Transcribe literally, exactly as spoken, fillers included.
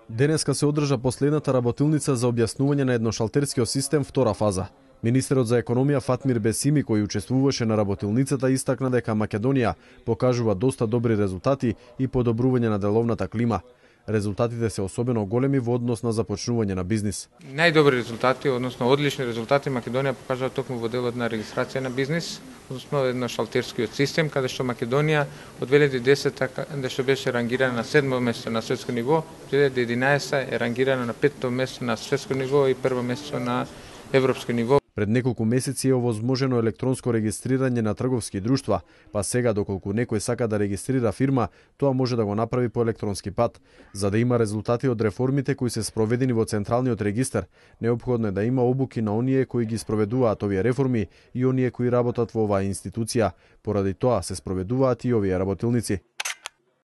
Денеска се одржа последната работилница за објаснување на едношалтерскиот систем втора фаза. Министерот за економија Фатмир Бесими, кој учествуваше на работилницата, истакна дека Македонија покажува доста добри резултати и подобрување на деловната клима. Резултатите се особено големи во однос на започнување на бизнис. Најдобри резултати, односно одлични резултати Македонија покажува токму во делот на регистрација на бизнис, односно едношалтерскиот систем, каде што Македонија од две илјади и десета каде што беше рангирана на седмо место на светско ниво, две илјади и единаесета е рангирана на петто место на светско ниво и прво место на европско ниво. Пред неколку месеци е овозможено електронско регистрирање на трговски друштва, па сега доколку некој сака да регистрира фирма, тоа може да го направи по електронски пат. За да има резултати од реформите кои се спроведени во Централниот регистар, неопходно е да има обуки на оние кои ги спроведуваат овие реформи и оние кои работат во оваа институција. Поради тоа се спроведуваат и овие работилници.